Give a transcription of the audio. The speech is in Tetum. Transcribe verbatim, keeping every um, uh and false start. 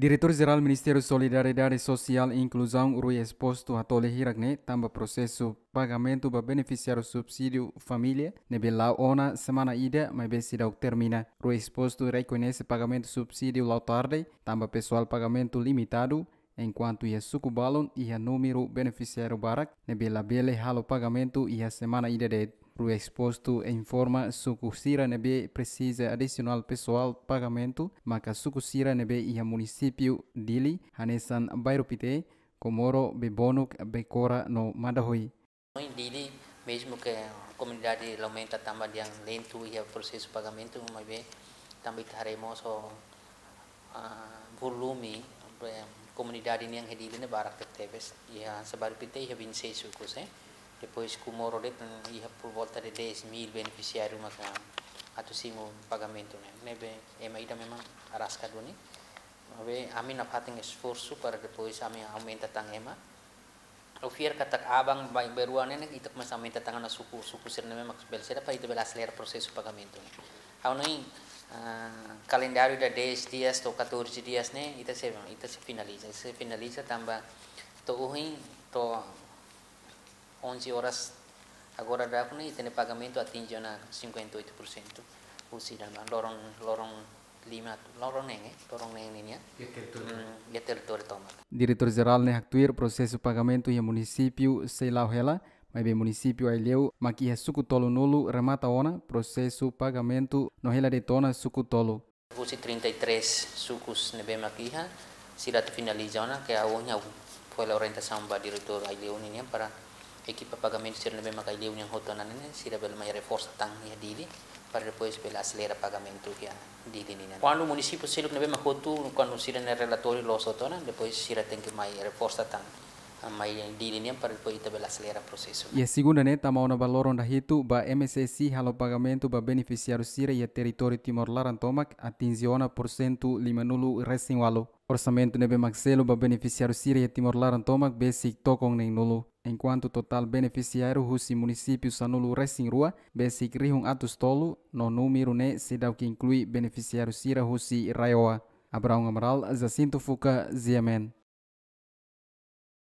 Diretór Jerál Ministériu Solidariedade Sosiál i Inkluzaun, Rui Exposto, hato'o lia hirak ne'e tanba prosesu pagamentu ba benefisiáriu subsídiu família ne'ebé la'o ona semana ida, maibé seidauk termina. Rui Exposto rekoñese pagamentu subsídiu la'o tarde tanba pesoál pagamentu limitadu, enkuantu iha suku balun iha númeru benefisiáriu barak ne'ebé labele halo pagamentu iha semana ida de'it. Rui Exposto informa suku sira ne'ebé presiza adisionál pesoál pagamentu maka suku sira ne'ebé iha munisípiu Dili, hanesan Bairru Pité, Comoro, Bebonuk, Becora no Mandahui. Em Dili, mesmu ke komunidade aumenta tanba dehan lentu iha prosesu pagamentu, maibé tanba ita haree mós ho, ah, volume, eh, komunidade nian iha Dili ne'e barak tebes. Iha Bairru Pité iha vinte e seis sukus, eh. Depois Comoro de'it, mm, iha por volta de dez mil benefisiáriu maka atu simu pagamentu ne'e. Ne'ebé ema ida memang araska duni. Maibé ami nafatin esforsu para depois ami aumenta tan ema. Ha'u fiar katak aban-bainrua ne'e, ne'e ita komesa aumenta tan ona suku, suku sira ne'ebé mak bele saida para ita bele aselera prosesu pagamentu ne'e. Ha'u hanoin, ah, kalendáriu ida dez dias to'o catorze dias ne'e, ita sei, ita sei finaliza, sei finaliza tanba to'o ohin, to'o onze horas agora daudaun ne'e, ita-nia pagamentu atinje ona cinquenta e oito por cento. Husi daudaun loron, loron lima, loron neen, eh, loron neen nian. Iha territóriu. Mm, iha territóriu tomak. Diretór Jerál ne'e haktuir prosesu pagamentu iha munisípiu sei la'o hela, maibé munisípiu Aileu mak iha suku tolunulu remata ona prosesu pagamentu no hela de'it ona suku tolu. Husi trinta e três sukus ne'ebé mak iha, sira atu finaliza ona, ke ha'u ohin ha'u fó hela orientasaun ba diretór Aileu nian para ekipa pagamentu sira ne'ebé mak Aileu nian hotu ona ne'e, sira bele mai reforsa tan iha Dili, para depois bele aselera pagamentu iha Dili nian. Kuandu munisípiu seluk ne'ebé mak hotu, kuandu sira-nia relatóriu loos hotu ona, depois sira tenke mai reforsa tan, ah, mai Dili nian para depois ita bele aselera prosesu. Iha segunda ne'e tama ona ba loron dahitu ba M S S I halo pagamentu ba benefisiáriu sira iha territóriu Timor laran tomak atinje ona porsentu limanulu resin ualu. Orsamentu ne'ebé mak selu ba benefisiáriu sira iha Timor laran tomak besik tokon neenulu. Enkuantu totál benefisiáriu husi munisípiu sanulu resin rua besik rihun atus tolu, no númeru ne'e seidauk inklui benefisiáriu sira husi RAEOA. Abraão Amaral, Jacinto Fuca, G M N.